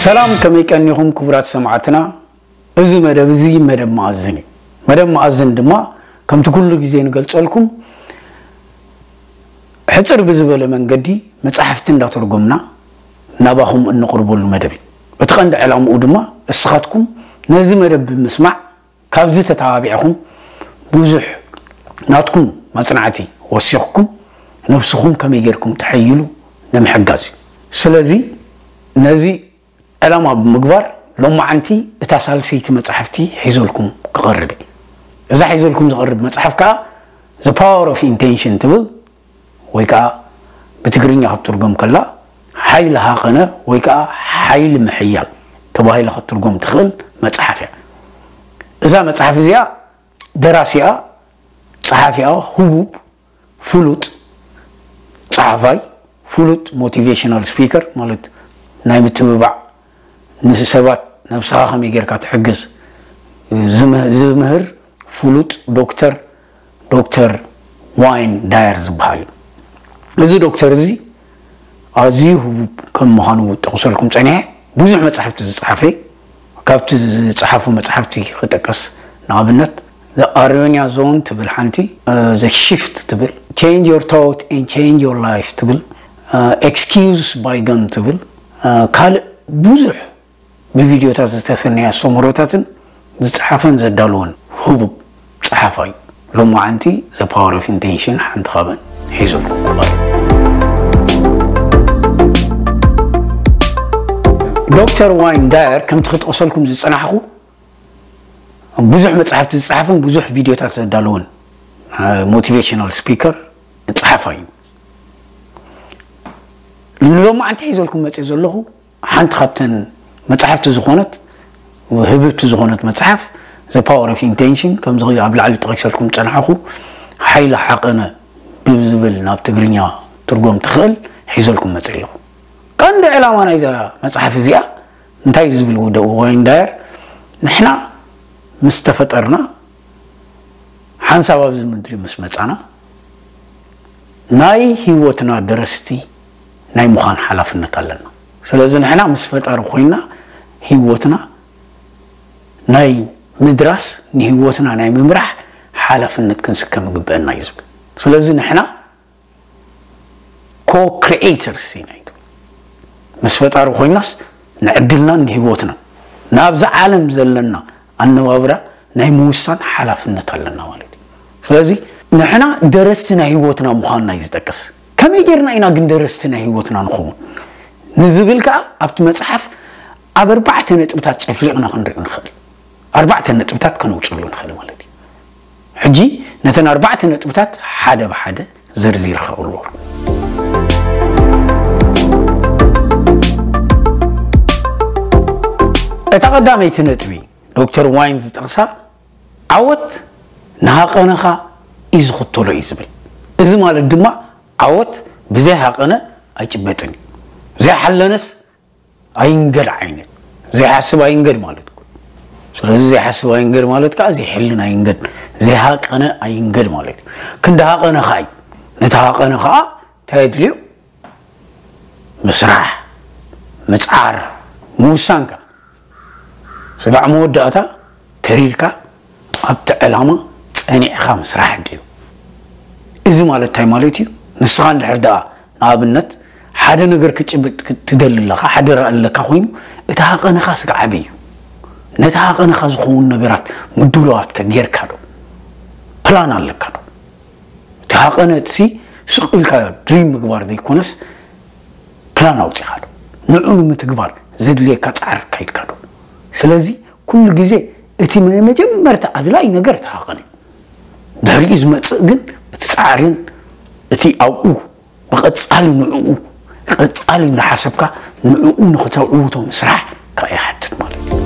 ሰላም፣ ከመይ ቀኒኹም ክቡራት ሰማዕትና? እዚ መደብ እዚ መደብ መኣዝን እዩ። መደብ መኣዝን ድማ ከምቲ ኩሉ ግዜ ንገልጸልኩም ሕጽር ብዝበለ መንገዲ መጻሕፍቲ እንዳተርጎምና ናባኹም እንቕርበሉ መደብ እዩ። እቲ ቀንዲ ዕላምኡ ድማ እስኻትኩም ነዚ መደብ ብምስማዕ ካብዚ ተተባቢዕኹም ብዙሕ ናትኩም መጽናዕቲ ወሲኽኩም ነብስኹም ከመይ ጌርኩም ተሐይሉ ንምሕጋዝ እዩ። ስለዚ ነዚ ዕላማ ብምግባር ሎማዓንቲ እታ ሳልሰይቲ መጻሕፍቲ ሒዘልኩም ክቐርብ እየ። እዛ ሒዘልኩም ዝቐርብ መጽሓፍ ከኣ The Power of Intention ትብል ወይ ከኣ ብትግርኛ ክትትርጎም ከላ ሓይሊ ሃቐነ ወይ ከኣ ሓይሊ ምሕያል ተባሂላ ክትትርጎም ትኽእል መጽሓፍ እያ። እዛ መጽሓፍ እዚኣ ደራሲኣ፣ ጸሓፊኣ ህቡብ ፍሉጥ ጸሓፋይ፣ ፍሉጥ ሞቲቬሽናል ስፒከር ማለት ናይ ምትብባዕ ንሰባት ነብስኻ ከመይ ጌርካ ትሕግዝ ዝምህ- ዝምህር ፍሉጥ ዶክተር ዶክተር ዋይን ዳየር ዝበሃል እዩ። እዚ ዶክተር እዚ ኣዝዩ ህቡብ ከም ምዃኑ ጠቕሰልኩም ጸኒሐ። ብዙሕ መጻሕፍቲ ዝጸሓፈ እዩ። ካብቲ ዝጸሓፉ መጻሕፍቲ ክጠቀስ ንኣብነት The Aronia Zone ትብል ሓንቲ፣ The Shift ትብል፣ Change Your Thought and Change Your Life ትብል፣ Excuse Bygone ትብል፣ ካልእ ብዙሕ ብቪድዮታት ዝተሰነየ ኣስተምህሮታትን ዝጸሓፈን ዘዳለወን ህቡብ ጸሓፋይ ሎማዓንቲ The Power of Intention ሓንቲ ካብን ሒዙልኩም ክቐርብ። ዶክተር ዋይን ዳየር ከምቲ ክጠቕሰልኩም ዝጸናሕኩ ብዙሕ መጻሕፍቲ ዝጸሓፈን ብዙሕ ቪድዮታት ዘዳለወን ሞቲቬሽናል ስፒከር ጸሓፋይ እዩ። ንሎማዓንቲ ሒዘልኩም መጽእ ዘለኹ ሓንቲ ካብተን መጻሕፍቲ ዝኾነት ህብብቲ ዝኾነት መጽሓፍ The Power of Intention ከምዚ ኣብ ላዕሊ ጠቒሰልኩም ጸናሕኩ ሓይሊ ሓቐነ ብዝብል ናብ ትግርኛ ትርጎም ትኽእል ሒዘልኩም መጽእ ኣለኹ። ቀንዲ ዕላማ ናይዛ መጽሓፍ እዚኣ እንታይ እዩ ዝብል ወደ ዋይን ዳየር ንሕና ምስ ተፈጠርና ሓንሳብ ኣብዚ ምድሪ ምስ መጻና ናይ ህይወትና ደረስቲ ናይ ምዃን ሓላፍነት ኣለና። ስለዚ ንሕና ምስ ፈጣሪ ኮይና ህይወትና ናይ ምድራስ ንህይወትና ናይ ምምራሕ ሓላፍነት ክንስከም ይግበአና እዩ ዝብል። ስለዚ ንሕና ኮ-ክሪኤተርስ ኢና ኢሉ ምስ ፈጣሪ ኮይናስ ንዕድልናን ንህይወትናን ናብዛ ዓለም ዘለና ኣነባብራ ናይ ምውሳን ሓላፍነት ኣለና ማለት እዩ። ስለዚ ንሕና ደረስቲ ናይ ህይወትና ምዃንና እዩ ዝጠቅስ። ከመይ ጌርና ኢና ግን ደረስቲ ናይ ህይወትና ንኸውን ንዝብል ከዓ ኣብቲ መፅሓፍ ኣብ ኣርባዕተ ነጥብታት ጨፍሊቕና ክንሪኦ ንኽእል። ኣርባዕተ ነጥብታት ከነውፅሉ ንኽእል ማለት እዩ። ሕጂ ነተን ኣርባዕተ ነጥብታት ሓደ ብሓደ ዘርዚረ ከቕርበልኩም። እታ ቀዳመይቲ ነጥቢ ዶክተር ዋይን ዝጠቕሳ ዓወት ንሃቐነኻ እዩ ዝኽተሎ እዩ ዝብል። እዚ ማለት ድማ ዓወት ብዘይ ሃቐነ ኣይጭበጥን እዩ። ዘይሓለነስ ኣይንገድ ዓይነት ዘይሓስብ ኣይንገድ ማለት እዩ። ስለዚ ዘይሓስብ ኣይንገድ ማለት ከዓ ዘይሕልን ኣይንገድ ዘይሃቀነ ኣይንገድ ማለት እዩ። ክንዲ ሃቀነ ከዓ እዩ። ነቲ ሃቀነ ከዓ እንታይ የድልዩ? ምስራሕ፣ ምፅዓር፣ ምውሳን ከዓ ስጋዕ መወዳእታ ተሪርካ ኣብቲ ዕላማ ፀኒዕኻ ምስራሕ ድዩ? እዚ ማለት እንታይ ማለት እዩ? ንስኻ እንድሕር ደኣ ንኣብነት ሓደ ነገር ክጭብጥ ትደሊ ኣለኻ፣ ሓደ ራኢ ኣለካ ኮይኑ እቲ ሃቐንኻ ስጋዕ ዓብይ እዩ። ነቲ ሃቐንኻ ዝኸውን ነገራት ምድላዋት ከ ጌርካ ዶ? ፕላን ኣለካ ዶ? እቲ ሃቐነ እቲ ስቕ ኢልካ ድሪም ምግባር ዘይኮነስ ፕላን ኣውፂኻ ዶ? ንዑ ንምትግባር ዘድልየካ ፃዕሪ ኣካይድካ ዶ? ስለዚ ኩሉ ግዜ እቲ መጀመርታ ኣድላይ ነገር እቲ ሃቐን እዩ። ድሕሪኡ ዝመፅእ ግን እቲ ፃዕሪን እቲ ኣብኡ ብቐፃሊ ንዕኡ ቀፃሊ እንዳሓሰብካ ንዕኡ ንክተዕውቶ ምስራሕ ከዓ ይሓትት ማለት እዩ።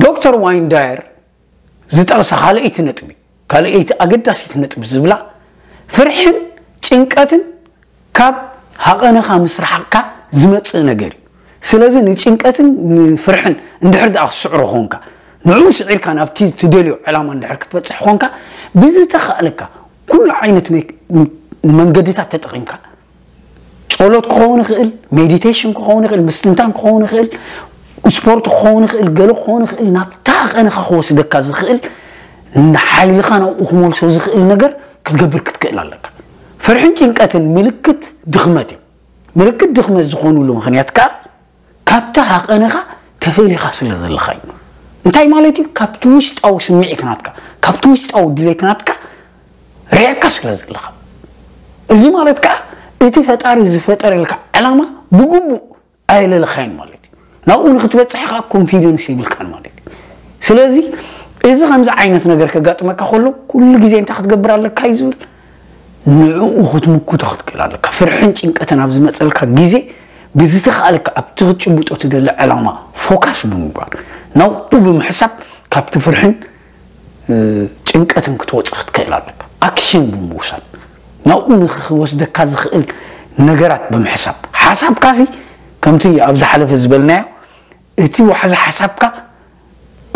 ዶክተር ዋይን ዳየር ዝጠቕሳ ካልኣይቲ ነጥቢ ካልኣይቲ ኣገዳሲት ነጥቢ ዝብላ ፍርሕን ጭንቀትን ካብ ሃቐነኻ ምስራሕካ ዝመፅእ ነገር እዩ። ስለዚ ንጭንቀትን ንፍርሕን እንድሕር ደኣ ክትስዕሮ ኾንካ ንዕኡ ስዒርካ ናብቲ ትደልዮ ዕላማ እንድሕር ክትበፅሕ ኾንካ ብዝተኻእለካ ኩሉ ዓይነት መንገድታት ተጠቒምካ፣ ጸሎት ክኸውን ይኽእል፣ ሜዲቴሽን ክኸውን ይኽእል፣ ምስትንታን ክኸውን ይኽእል፣ ስፖርት ክኸውን ይኽእል፣ ገለ ክኸውን ይኽእል፣ ናብታ ሃቐንኻ ክወስደካ ዝኽእል፣ ንሓይልኻ ናብኡ ክመልሶ ዝኽእል ነገር ክትገብር ክትክእል ኣለካ። ፍርሕን ጭንቀትን ምልክት ድኽመት እዮም። ምልክት ድኽመት ዝኾኑሉ ምኽንያት ከኣ ካብቲ ሃቐንኻ ተፈሊኻ ስለ ዘለኻ እዩ። እንታይ ማለት እዩ? ካብቲ ውሽጣዊ ስምዒት ናትካ፣ ካብቲ ውሽጣዊ ድሌት ናትካ ርሒቕካ ስለ ዘለኻ። እዚ ማለት ከኣ እቲ ፈጣሪ ዝፈጠረልካ ዕላማ ብግቡእ ኣየለለኻዮን ማለት እዩ። ናብኡ ንክትበጽሕ ከኣ ኮንፊደንስ የብልካን ማለት እዩ። ስለዚ እዚ ከምዚ ዓይነት ነገር ከጋጥመካ ከሎ ኩሉ ግዜ እንታይ ክትገብር ኣለካ እዩ ዝብል? ንዕኡ ክትምክቶ ክትክእል ኣለካ። ፍርሕን ጭንቀትን ኣብ ዝመጸልካ ግዜ ብዝተኻእለካ ኣብቲ ክትጭብጦ ትደሊ ዕላማ ፎካስ ብምግባር ናብኡ ብምሕሳብ ካብቲ ፍርሕን እ፣ ጭንቀትን ክትወጽእ ክትክእል ኣለካ። ኣክሽን ብምውሳድ ናብኡ ንክወስደካ ዝኽእል ነገራት ብምሕሳብ ሓሳብካሲ ከምቲ ኣብ ዝሓለፈ ዝበልናዮ እቲ ዋሕዚ ሓሳብካ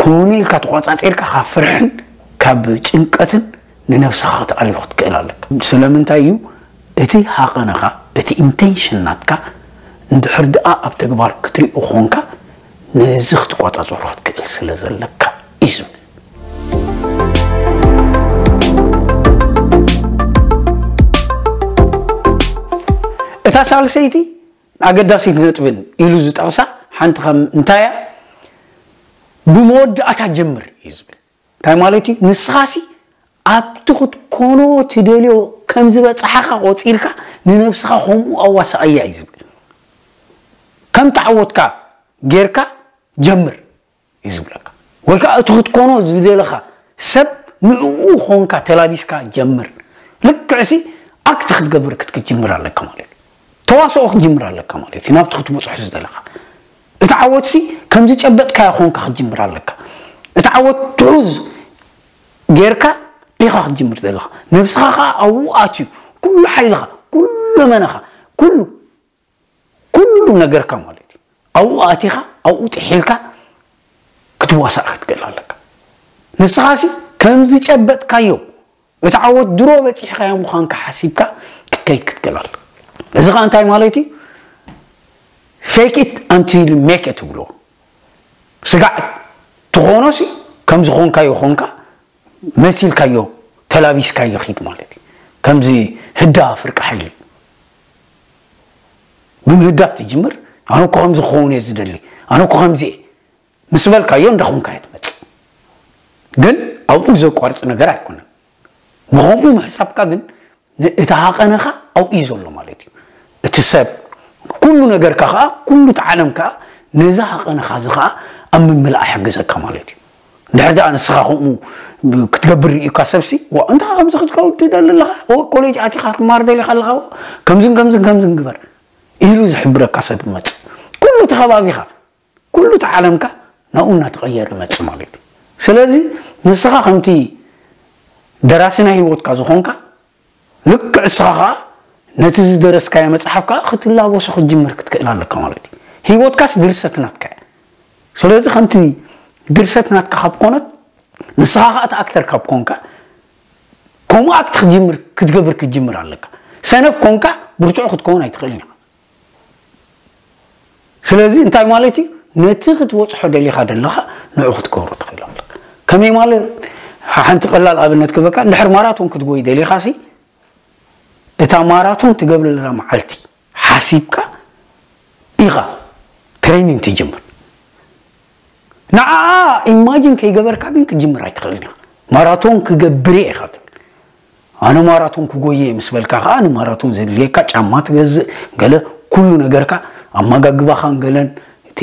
ኮነ ኢልካ ተቋጻጺርካ ካብ ፍርሕን ካብ ጭንቀትን ንነብስኻ ክትኣልዮ ክትክእል ኣለካ። ስለምንታይ እዩ? እቲ ሃቐነኻ፣ እቲ ኢንቴንሽን ናትካ እንድሕር ደኣ ኣብ ተግባር ክትሪኦ ኾንካ ነዚ ክትቋጻጸሮ ክትክእል ስለ ዘለካ እዩ ዝብል። እታ ሳልሰይቲ ኣገዳሲት ነጥብን ኢሉ ዝጠቕሳ ሓንቲ ከም እንታይ እያ? ብመወዳእታ ጀምር እዩ ዝብል። እንታይ ማለት እዩ? ንስኻሲ ኣብቲ ክትኮኖ ትደልዮ ከም ዝበጽሓኻ ቆጺርካ ንነብስኻ ከምኡ ኣዋሳኣያ እዩ ዝብል። ከም ተዓወትካ ጌርካ ጀምር እዩ ዝብለካ። ወይ ከዓ እቲ ክትኮኖ ዝደለኻ ሰብ ንዕኡ ኾንካ ተላቢስካ ጀምር። ልክዕሲ ኣክት ክትገብር ክትክትጅምር ኣለካ ማለት እዩ። ተዋስኦ ክትጅምር ኣለካ ማለት እዩ። ናብቲ ክትበጽሖ ዝደለኻ እቲ ዓወትሲ ከም ዝጨበጥካዮ ኾንካ ክትጅምር ኣለካ። እቲ ዓወት ትሑዝ ጌርካ ኢኻ ክትጅምር ዘለኻ። ነብስኻ ኸዓ ኣብኡ ኣትዩ ኩሉ ሓይልኻ፣ ኩሉ መነኻ፣ ኩሉ ኩሉ ነገርካ ማለት እዩ። ኣብኡ ኣቲኻ ኣብኡ ጥሒልካ ክትዋሳእ ክትክእል ኣለካ። ንስኻሲ ከም ዝጨበጥካዮ እቲ ዓወት ድሮ በጺሕካዮ ምዃንካ ሓሲብካ ክትከይድ ክትክእል ኣለካ። እዚ ኸዓ እንታይ ማለት እዩ? ፌክ ኢት ኣንቲል ሜክ ኢት ትብሎ። ስጋዕ ትኾኖሲ ከም ዝኾንካዮ ኾንካ መሲልካዮ ተላቢስካዮ ኺድ ማለት እዩ። ከምዚ ህዳ ፍርቂ ሓይሊ ብምህዳት ትጅምር። ኣነ እኮ ከምዚ ክኸውን እየ ዝደሊ፣ ኣነ እኮ ከምዚ እየ ምስ በልካዮ እንዳኾንካዮ ትመጽእ። ግን ኣብኡ ዘቋርጽ ነገር ኣይኮነን። ብኸምኡ ምሕሳብካ ግን እቲ ሃቐነኻ ኣብኡ እዩ ዘሎ ማለት እዩ። እቲ ሰብ ኩሉ ነገርካ ኸዓ ኩሉ እቲ ዓለም ከኣ ነዚ ሃቐነኻ እዚ ኸዓ ኣብ ምምላእ ይሕግዘካ ማለት እዩ። ድሕር ደኣ ንስኻ ከምኡ ክትገብር ርእዩካ ሰብሲ ዋ እንታይ ከምዚ ክትከውን ትደሊ ኣለኻ ኮሌጅ ኣቲኻ ክትማር ደሊኻ ኣለኻ ከምዝን ከምዝን ከምዝን ግበር ኢሉ ዝሕብረካ ሰብ ይመጽእ። ኩሉ እቲ ከባቢኻ ኩሉ እቲ ዓለምካ ናብኡ እናተቐየረ ይመጽእ ማለት እዩ። ስለዚ ንስኻ ከምቲ ደራሲ ናይ ህይወትካ ዝኾንካ ልክዕ እስኻ ኸዓ ነቲ ዝደረስካዮ መጽሓፍ ከኣ ክትላበሶ ክትጅምር ክትክእል ኣለካ ማለት እዩ። ህይወትካስ ድርሰት ናትካ እያ። ስለዚ ከምቲ ድርሰት ናትካ ካብ ኮነት ንስኻ ኸዓ እቲ ኣክተር ካብ ኮንካ ከምኡ ኣክት ክትጅምር ክትገብር ክትጅምር ኣለካ። ሰነፍ ኮንካ ብርቱዕ ክትከውን ኣይትኽእልን ኢኻ። ስለዚ እንታይ ማለት እዩ? ነቲ ክትበጽሖ ደሊኻ ደለኻ ንዑ ክትገብሮ ትኽእል ኣለካ። ከመይ ማለት? ሓንቲ ቀላል ኣብነት ክበካ እንድሕር ማራቶን ክትጎይ ደሊኻ ሲ እታ ማራቶን ትገብረላ መዓልቲ ሓሲብካ ኢኻ ትሬኒንግ ትጅምር። ንዓኣ ኢማጂን ከይገበርካ ግን ክትጅምር ኣይትኽእልን ኢኻ። ማራቶን ክገብር እየ ኢኻ ትብል። ኣነ ማራቶን ክጎየ ምስ በልካ ከዓ ንማራቶን ዘድልየካ ጫማ ትገዝእ ገለ ኩሉ ነገርካ ኣመጋግባኻን ገለን እቲ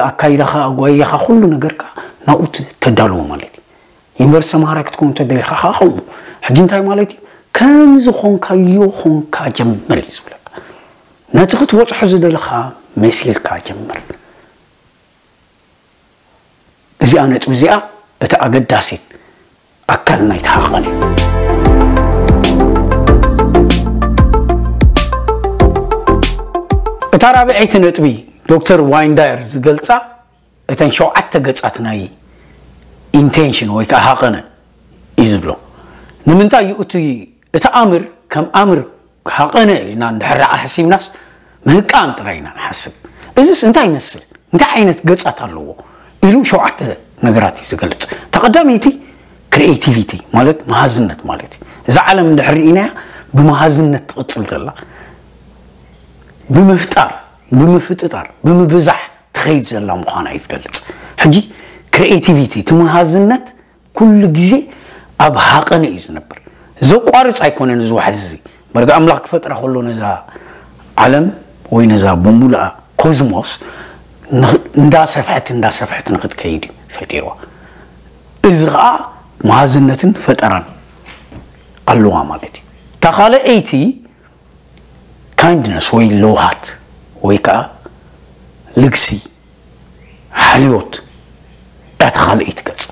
ኣካይዳኻ ኣጓየኻ ኩሉ ነገርካ ናብኡ ተዳልዎ ማለት እዩ። ዩኒቨርሲቲ ተምሃራይ ክትከውን ተደሊኻ ከዓ ከምኡ። ሕጂ እንታይ ማለት እዩ? ከም ዝኾንካዮ ኾንካ ጀምር እዩ ዝብለካ። ነቲ ክትበፅሖ ዝደለኻ መሲልካ ጀምር። እዚኣ ነጥቢ እዚኣ እቲ ኣገዳሲት ኣካል ናይቲ ሃቐን እዩ። እታ ራብዐይቲ ነጥቢ ዶክተር ዋይንዳየር ዝገልጻ እተን ሸውዓተ ገጻት ናይ ኢንቴንሽን ወይ ከዓ ሃቐነ እዩ ዝብሎ። ንምንታይ እዩ እቲ እቲ ኣምር ከም ኣምር ሃቐነ ኢልና እንድሕር ደኣ ሓሲብናስ ምህቃን ጥራይ ኢና ንሓስብ። እዚስ እንታይ ይመስል? እንታይ ዓይነት ገጻት ኣለዎ? ኢሉ ሸውዓተ ነገራት እዩ ዝገልጽ። ተቐዳመይቲ ክሪኤቲቪቲ ማለት መሃዝነት ማለት እዩ። እዛ ዓለም እንድሕር ርኢናያ ብመሃዝነት ትቕጽል ዘላ፣ ብምፍጣር፣ ብምፍጥጣር፣ ብምብዛሕ ትኸይድ ዘላ ምዃና እዩ ዝገልጽ። ሕጂ ክሪኤቲቪቲ እቲ መሃዝነት ኩሉ ግዜ ኣብ ሃቐነ እዩ ዝነብር። ዘቋርጽ ኣይኮነን እዚ ዋሕዚ እዚ። መርጋ ኣምላኽ ክፈጥራ ከሎ ነዛ ዓለም ወይ ነዛ ብምሉኣ ኮዝሞስ ንኽ- እንዳሰፍሐት እንዳሰፍሐት ንክትከይድ እዩ ፈጢርዋ። እዚ ከዓ መሃዝነትን ፈጠራን ኣለዋ ማለት እዩ። እታ ካልኣይቲ ካይንድነስ ወይ ለውሃት ወይ ከዓ ልግሲ ሓልዮት እታ ካልኣይቲ ገጽ።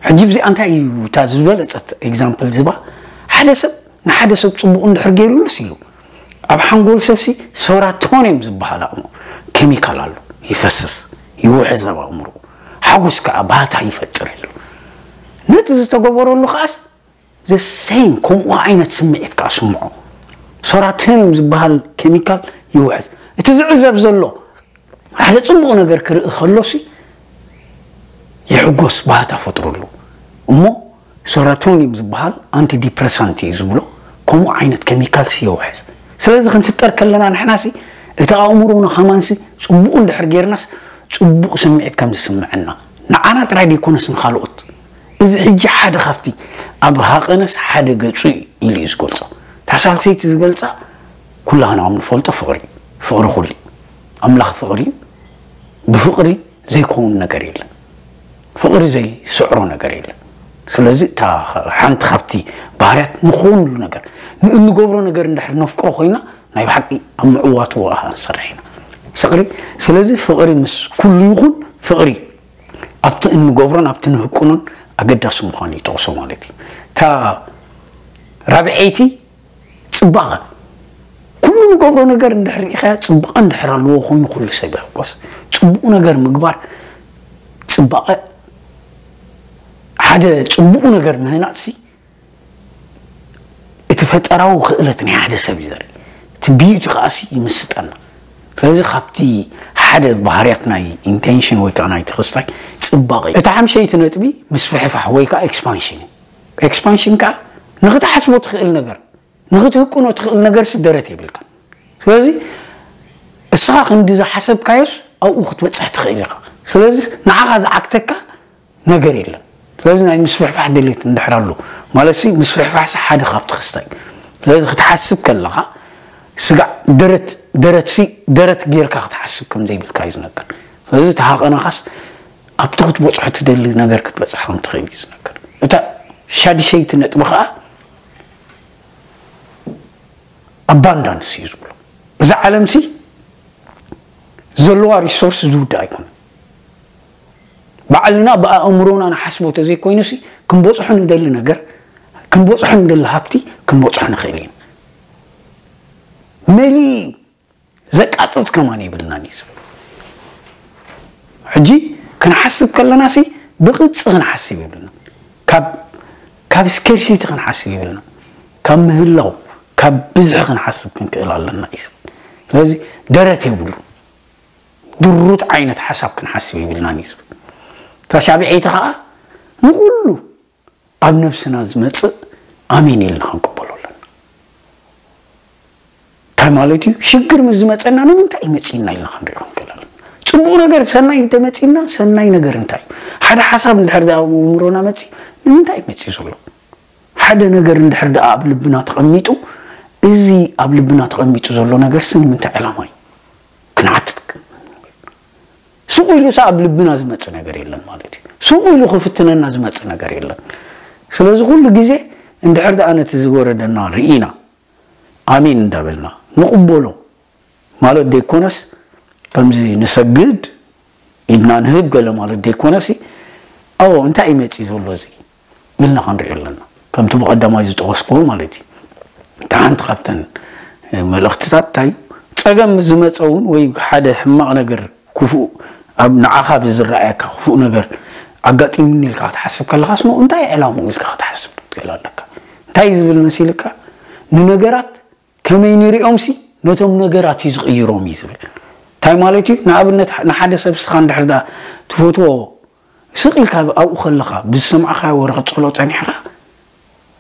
ሕጂ ብዚኣ እንታይ እዩ እታ ዝበለጸት ኤግዛምፕል ዝባ? ሓደ ሰብ ንሓደ ሰብ ጽቡቕ እንድሕር ገይሩሉስ ኢሉ ኣብ ሓንጎል ሰብሲ ሰራቶኒየም ዝበሃል ኣእምሮ ኬሚካል ኣሎ፣ ይፈስስ፣ ይውሕዝ ኣብ ኣእምሮ፣ ሓጎስ ከዓ ባህታ ይፈጥር ኢሉ። ነቲ ዝተገበረሉ ከዓስ ዘሰይም ከምኡ ዓይነት ስምዒት ከዓ ስምዖ። ሰራቶኒየም ዝበሃል ኬሚካል ይውሕዝ። እቲ ዝዕዘብ ዘሎ ሓደ ጽቡቕ ነገር ክርኢ ከሎሲ ይሕጎስ፣ ባህታ ፈጥረሉ። እሞ ሰራቶኒየም ዝበሃል ኣንቲ ዲፕረሳንት እዩ ዝብሎ፣ ከምኡ ዓይነት ኬሚካልሲ የውሕዝ። ስለዚ ክንፍጠር ከለና ንሕናሲ እቲ ኣእምሮና ከማንሲ ጽቡቕ እንድሕር ጌርናስ ጽቡቕ ስምዒት ከም ዝስምዐና ንዓና ጥራይ ደይኮነስ ንኻልኦት። እዚ ሕጂ ሓደ ካብቲ ኣብ ሃቐነስ ሓደ ገጹ እዩ ኢሉ እዩ ዝገልጾ። እታ ሳልሰይቲ ዝገልጻ ኩላህና ከም ንፈልጦ ፍቕሪ፣ ፍቕሪ ኩሉ እዩ። ኣምላኽ ፍቕሪ እዩ። ብፍቕሪ ዘይከውን ነገር የለን። ፍቕሪ ዘይስዕሮ ነገር የለን። ስለዚ እታ ሓንቲ ካብቲ ባህርያት ንኾንሉ ነገር ንእንገብሮ ነገር እንድሕር ነፍቅሮ ኮይና ናይ ብሓቂ ኣብ ምዕዋቱ ኣኻ ንሰርሕ ኢና። ፍቕሪ ስለዚ ፍቕሪ ምስ ኩሉ ይኹን ፍቕሪ ኣብቲ እንገብሮን ኣብቲ ንህቅኖን ኣገዳሲ ምዃኑ ይጠቕሶ ማለት እዩ። እታ ራብዐይቲ ጽባቐ ኩሉ ንገብሮ ነገር እንድሕር ርኢኻያ ጽባቐ እንድሕር ኣለዎ ኮይኑ ኩሉ ሰብ ይሕጎስ። ጽቡቕ ነገር ምግባር ጽባቐ ሓደ ጽቡቕ ነገር ምህናጽሲ እቲ ፈጠራዊ ክእለት ናይ ሓደ ሰብ እዩ ዘርኢ። እቲ ብዩቲ ከዓሲ ይምስጠና። ስለዚ ካብቲ ሓደ ባህርያት ናይ ኢንቴንሽን ወይ ከዓ ናይ ተኸስታይ ጽባቐ እዩ። እታ ሓምሸይቲ ነጥቢ ምስፍሕፋሕ ወይ ከዓ ኤክስፓንሽን እዩ። ኤክስፓንሽን ከዓ ንኽትሓስቦ ትኽእል ነገር ንኽትህቅኖ ትኽእል ነገርሲ ደረት የብልካን። ስለዚ እስኻ ክንዲ ዝሓሰብካዮስ ኣብኡ ክትበፅሕ ትኽእል ኢኻ። ስለዚ ንዓኻ ዝዓግተካ ነገር የለን። ስለዚ ናይ ምስፍሕፋሕ ድሌት እንድሕር ኣሎ ማለትሲ ምስፍሕፋሕሲ ሓደ ካብቲ ክስታይ። ስለዚ ክትሓስብ ከለኻ ስጋዕ ደረት ደረትሲ ደረት ጌርካ ክትሓስብ ከም ዘይብልካ እዩ ዝነገር። ስለዚ ተሃቐናኻስ ኣብቲ ክትበፅሖ ትደሊ ነገር ክትበፅሕ ከም ትኽእል እዩ ዝነገር። እታ ሻድሸይቲ ነጥቢ ከዓ ኣባንዳንስ እዩ ዝብሎ። እዛ ዓለምሲ ዘለዋ ሪሶርስ ዝውዳእ ኣይኮነን። ባዕልና ብኣእምሮና ንሓስቦ ተዘይኮይኑሲ ክንበፅሖ ንደሊ ነገር ክንበፅሖ ንደሊ ሃብቲ ክንበፅሖ ንኽእል ኢና። መሊ ዘቃፅፅ ከማን የብልናን እዩ ዝብል። ሕጂ ክንሓስብ ከለናሲ ብቕፂ ክንሓስብ የብልና። ካብ ካብ ስኬርሲቲ ክንሓስብ የብልና። ካብ ምህላው ካብ ብዝሒ ክንሓስብ ክንክእል ኣለና እዩ ዝብል። ስለዚ ደረት የብሉ ድሩት ዓይነት ሓሳብ ክንሓስብ የብልናን እዩ ዝብል። እታ ሻብዐይቲ ከዓ ንኩሉ ኣብ ነብስና ዝመጽእ ኣሜን ኢልና ክንቅበሎ ኣለና። እንታይ ማለት እዩ? ሽግር ምስ ዝመጸና ንምንታይ እዩ መጺእና ኢልና ክንሪኦ ክንክእል ኣለና። ጽቡቕ ነገር ሰናይ እንተመጺእና ሰናይ ነገር እንታይ እዩ? ሓደ ሓሳብ እንድሕር ኣብ ኣእምሮና መጺኡ ንምንታይ እዩ መጺኡ ዘሎ? ሓደ ነገር እንድሕር ደኣ ኣብ ልብና ተቐሚጡ እዚ ኣብ ልብና ተቐሚጡ ዘሎ ነገርሲ ንምንታይ ዕላማ እዩ? ክንሓትት ስቕ ኢሉ ሳ ኣብ ልብና ዝመጽእ ነገር የለን ማለት እዩ። ስቕ ኢሉ ክፍትነና ዝመጽእ ነገር የለን። ስለዚ ኩሉ ግዜ እንድሕር ደኣ ነቲ ዝወረደና ርኢና ኣሜን እንዳበልና ንቕበሎ ማለት ደይኮነስ ከምዚ ንሰግድ ኢድና ንህብ ገለ ማለት ደይኮነሲ ኣዎ እንታይ እዩ መጺእ ዘሎ እዚ ኢልና ክንሪኦ ኣለና። ከምቲ ብቐዳማይ ዝጠቐስክዎ ማለት እዩ። እታ ሓንቲ ካብተን መልእኽትታት እንታይ እዩ? ጸገም ምስ ዝመጸ እውን ወይ ሓደ ሕማቕ ነገር ክፉእ ኣብ ንዓኻ ብዝረኣየካ ክፉእ ነገር ኣጋጢሙኒ ኢልካ ክትሓስብ ከለኻስ ሞ እንታይ ዕላምኡ ኢልካ ክትሓስብ ክትክእል ኣለካ። እንታይ እዩ ዝብል መሲልካ? ንነገራት ከመይ ንሪኦምሲ ነቶም ነገራት እዩ ዝቕይሮም እዩ ዝብል። እንታይ ማለት እዩ? ንኣብነት ንሓደ ሰብ ስኻ እንድሕር ዳ ትፈትዎ ስቕ ኢልካ ኣብኡ ከለኻ ብዝሰማዕካዮ ወረቐት ጸሎ ጸኒሕካ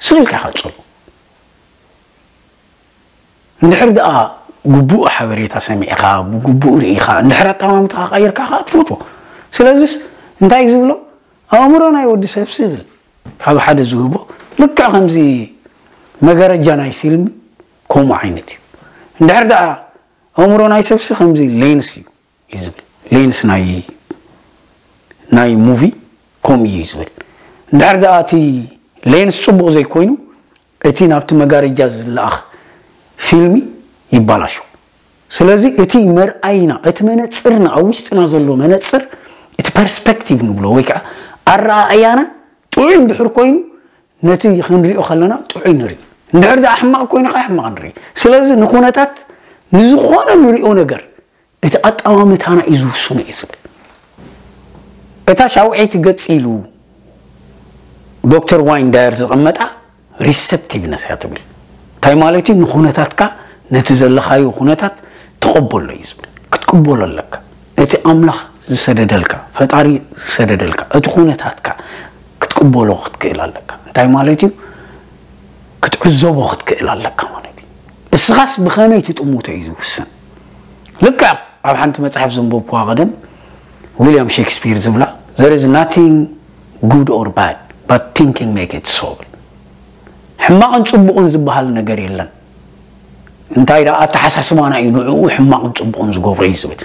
ስቕ ኢልካ ኢኻ ትጸሎ። እንድሕር ደኣ ግቡእ ሓበሬታ ሰሚዕካ ብግቡእ ርኢኻ እንድሕር ኣጠማምትኻ ቀይርካ ከዓ ትፈትዎ። ስለዚስ እንታይ እዩ ዝብሎ? ኣእምሮ ናይ ወዲ ሰብሲ ይብል ካብ ሓደ ዝህቦ ልክዕ ከምዚ መጋረጃ ናይ ፊልም ከምኡ ዓይነት እዩ። እንድሕር ደኣ ኣእምሮ ናይ ሰብሲ ከምዚ ሌንስ እዩ እዩ ዝብል። ሌንስ ናይ ናይ ሙቪ ከምኡ እዩ ዝብል። እንድሕር ደኣ እቲ ሌንስ ጽቡቕ ዘይኮይኑ እቲ ናብቲ መጋረጃ ዝለኣኽ ፊልሚ ይባላሾ። ስለዚ እቲ መርኣይና እቲ መነጽርና ኣብ ውሽጥና ዘሎ መነጽር እቲ ፐርስፔክቲቭ ንብሎ ወይ ከዓ ኣረኣእያና ጥዑይ እንድሕር ኮይኑ ነቲ ክንሪኦ ከለና ጥዑይ ንርኢ። እንድሕር ደኣ ሕማቕ ኮይኑ ከዓ ሕማቕ ንርኢ። ስለዚ ንኩነታት ንዝኾነ ንሪኦ ነገር እቲ ኣጠማምታና እዩ ዝውስኖ እዩ ዝብል። እታ ሻውዐይቲ ገጽ ኢሉ ዶክተር ዋይን ዳየር ዘቐመጣ ሪሰፕቲቭነስ እያ ትብል። እንታይ ማለት እዩ? ንኩነታትካ ነቲ ዘለኻዮ ኩነታት ተቐበሎ እዩ ዝብል። ክትቅበሎ ኣለካ። እቲ ኣምላኽ ዝሰደደልካ፣ ፈጣሪ ዝሰደደልካ፣ እቲ ኩነታትካ ክትቅበሎ ክትክእል ኣለካ። እንታይ ማለት እዩ? ክትዕዘቦ ክትክእል ኣለካ ማለት እዩ። እስኻስ ብኸመይ ትጥምቶ እዩ ዝውስን። ልክዕ ኣብ ሓንቲ መጽሓፍ ዘንበብኩዋ ቀደም ዊልያም ሼክስፒር ዝብላ there is nothing good or bad but thinking make it so። ሕማቕን ጽቡቕን ዝበሃል ነገር የለን። እንታይ ደኣ ኣተሓሳስባና እዩ ንዕኡ ሕማቕን ጽቡቕን ዝገብሮ እዩ ዝብል።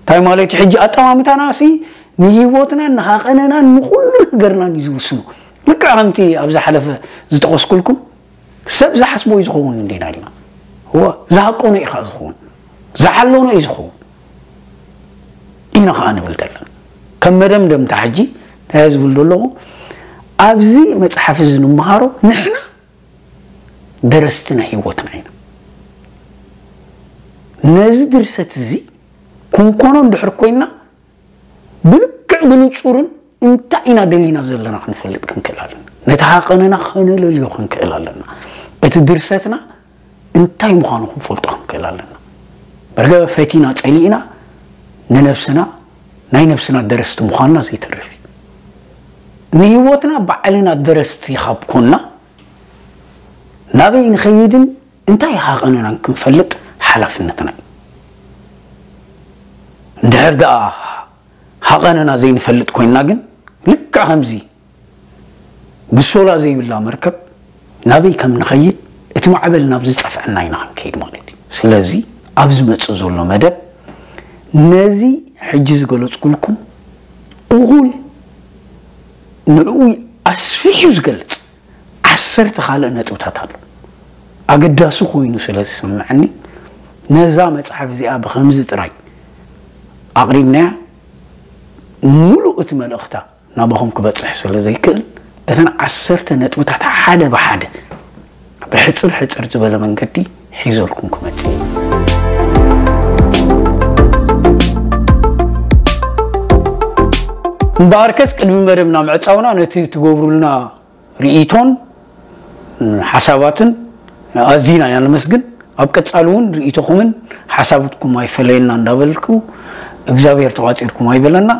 እንታይ ማለት እዩ? ሕጂ ኣጠማምታና ሲ ንህይወትናን ንሃቐነናን ንኹሉ ነገርናን እዩ ዝውስኖ። ልክዕ ከምቲ ኣብ ዝሓለፈ ዝጠቐስኩልኩም ሰብ ዝሓስቦ እዩ ዝኸውን እንዲና ኢልና እዋ ዝሃቀኖ እዩ ከዓ ዝኸውን ዝሓለኖ እዩ ዝኸውን ኢና ከዓ ንብል ዘለና። ከም መደምደምታ ሕጂ እንታይ ዝብል ዘለኹ ኣብዚ መፅሓፍ እዚ ንምሃሮ ንሕና ደረስቲ ናይ ህይወትና ኢና። ነዚ ድርሰት እዚ ክንኮኖ እንድሕር ኮይና ብልክዕ ብንጹርን እንታይ ኢና ደሊና ዘለና ክንፈልጥ ክንክእል ኣለና። ነቲ ሃቐንና ከነለልዮ ክንክእል ኣለና። እቲ ድርሰትና እንታይ ምዃኑ ክንፈልጦ ክንክእል ኣለና። በርገ ፈቲና ጸሊእና ንነብስና ናይ ነብስና ደረስቲ ምዃንና ዘይተርፍ እዩ። ንህይወትና ባዕልና ደረስቲ ካብ ኮንና ናበይ ንኸይድን እንታይ ሃቐንናን ክንፈልጥ ሓላፍነትና እዩ። እንድሕር ደኣ ሃቐንና ዘይንፈልጥ ኮይንና ግን ልክዕ ከምዚ ብሶላ ዘይብላ መርከብ ናበይ ከም ንኸይድ እቲ ማዕበል ናብ ዝጸፍዐና ኢና ክንከይድ ማለት እዩ። ስለዚ ኣብ ዝመጽእ ዘሎ መደብ ነዚ ሕጂ ዝገለጽኩልኩም እኹል ንዕኡ ኣስፊሑ ዝገልጽ ዓሰርተ ካልእ ነጥብታት ኣሎ። ኣገዳሲ ኮይኑ ስለ ዝስምዐኒ ነዛ መጽሓፍ እዚኣ ብኸምዚ ጥራይ ኣቕሪብናያ ሙሉእ እቲ መልእኽታ ናባኹም ክበጽሕ ስለ ዘይክእል እተን ዓሰርተ ነጥብታት ሓደ ብሓደ ብሕጽር ሕጽር ዝበለ መንገዲ ሒዘልኩም ክመጽእ እየ። እምበኣርከስ ቅድሚ መደብና ምዕጻውና ነቲ ትገብሩልና ርእይቶን ሓሳባትን ኣዚና ኢና ነመስግን። ኣብ ቀጻሊ እውን ርእይቶኹምን ሓሳብትኩም ኣይፈለየና እንዳበልኩ እግዚኣብሔር ተቋጺርኩም ኣይበለና።